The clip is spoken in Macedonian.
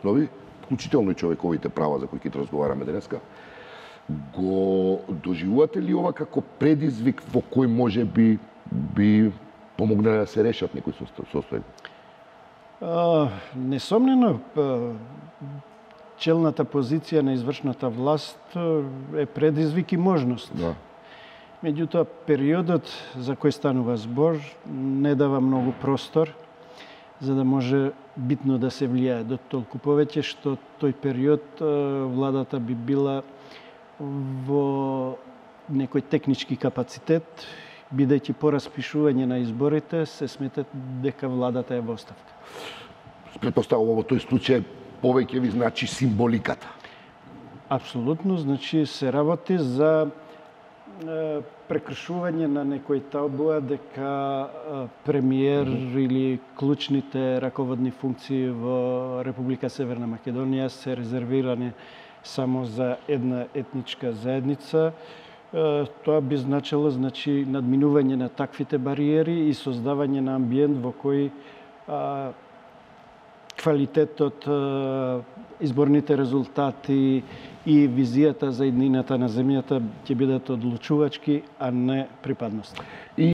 основи, вклучително и човековите права за кои ќе разговараме денеска, го доживувате ли ова како предизвик во кој може би помогнале да се решат некои состојби? Несомнено, челната позиција на извршната власт е предизвик и можност. Да. Меѓутоа, периодот за кој станува збор не дава многу простор за да може битно да се влијае, до толку повеќе што тој период владата би била во некој технички капацитет, бидејќи по распишување на изборите се смета дека владата е во оставка. Претпоставувам во тој случај повеќе ви значи символиката. Апсолутно, значи се работи за прекршување на некој табуа дека премиер или клучните раководни функции во Република Северна Македонија се резервирани само за една етничка заедница. Тоа би значило надминување на таквите бариери и создавање на амбиент во кој квалитетот, изборните резултати и визијата за иднината на земјата ќе бидат одлучувачки, а не припадност.